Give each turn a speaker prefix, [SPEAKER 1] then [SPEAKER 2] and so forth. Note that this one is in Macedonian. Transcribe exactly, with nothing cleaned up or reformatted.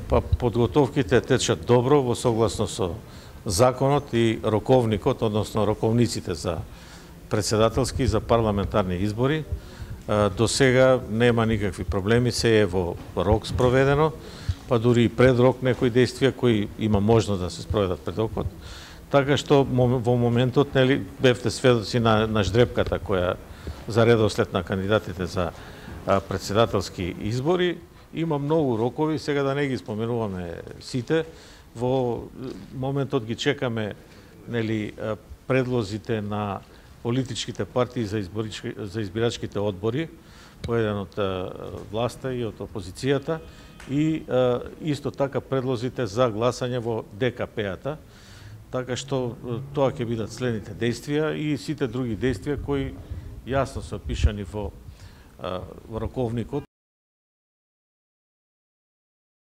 [SPEAKER 1] Па подготовките течат добро во согласно со законот и роковникот, односно роковниците за председателски и за парламентарни избори. До сега нема никакви проблеми, се е во рок спроведено, па дури и пред рок некои действија кои има можност да се спроведат пред рокот. Така што во моментот нели бевте сведоци на, на ждрепката која за редослед на кандидатите за председателски избори. Има многу рокови, сега да не ги споменуваме сите. Во моментот ги чекаме нели предлозите на политичките партии за изборички, за избирачките одбори, поеден од власта и од опозицијата, и исто така предлозите за гласање во Де Ка Пе-ата. Така што тоа ќе бидат следните действија и сите други действија кои јасно се опишани во, во роковникот.